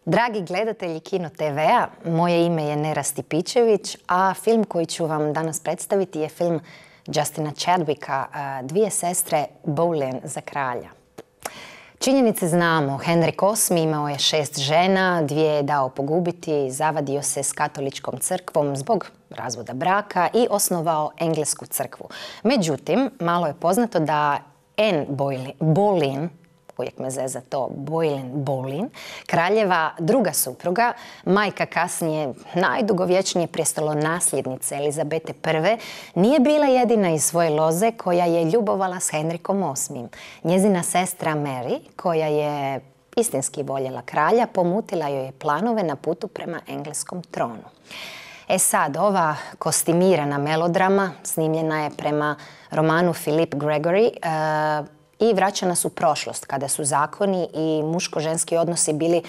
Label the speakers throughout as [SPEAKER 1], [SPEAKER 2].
[SPEAKER 1] Dragi gledatelji Kino TV-a, moje ime je Nera Stipičević, a film koji ću vam danas predstaviti je film Justina Chadwicka, Dvije sestre Boleyn za kralja. Činjenice znamo, Henrik VIII imao je 6 žena, 2 je dao pogubiti, zavadio se s katoličkom crkvom zbog razvoda braka i osnovao englesku crkvu. Međutim, malo je poznato da Anne Boleyn, uvijek me zeza to, Boleyn, kraljeva druga supruga, majka kasnije najdugovječnije prijestolonasljednice Elizabete I, nije bila jedina iz svoje loze koja je ljubovala s Henrikom VIII. Njezina sestra Mary, koja je istinski voljela kralja, pomutila joj je planove na putu prema engleskom tronu. E sad, ova kostimirana melodrama snimljena je prema romanu Philip Gregory i vraća nas u prošlost, kada su zakoni i muško-ženski odnosi bili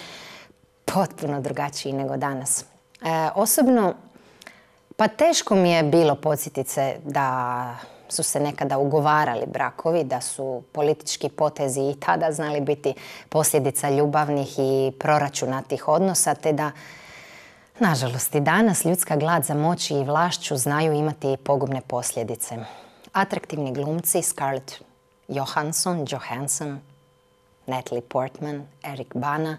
[SPEAKER 1] potpuno drugačiji nego danas. Osobno, pa teško mi je bilo podsjetiti se da su se nekada ugovarali brakovi, da su politički potezi i tada znali biti posljedica ljubavnih i proračunatih odnosa, te da, nažalost, i danas ljudska glad za moći i vlašću znaju imati pogubne posljedice. Atraktivni glumci Scarlett Johansson, Natalie Portman, Eric Bana,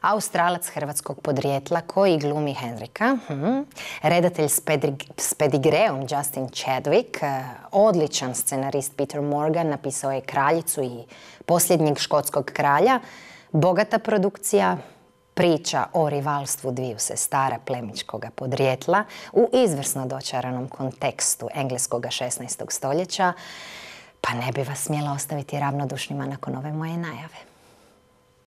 [SPEAKER 1] Australac hrvatskog podrijetla koji glumi Henrika, redatelj s pedigreom Justin Chadwick, odličan scenarist Peter Morgan, napisao je Kraljicu i Posljednjeg škotskog kralja, bogata produkcija, priča o rivalstvu dviju sestara plemićkoga podrijetla u izvrsno dočaranom kontekstu engleskog 16. stoljeća. Pa ne bi vas smjela ostaviti ravnodušnima nakon ove moje najave.